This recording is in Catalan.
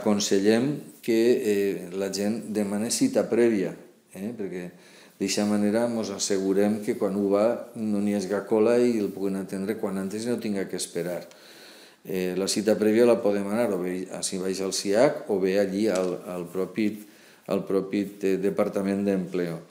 Aconsellem que la gent demani cita prèvia, perquè d'aquesta manera ens assegurem que quan ho va no n'hi hagi cola i el puguin atendre quan antes i no tinga que esperar. La cita prèvia la podem anar o bé si vaig al SIAC o bé allí al propi Departament d'Empleo.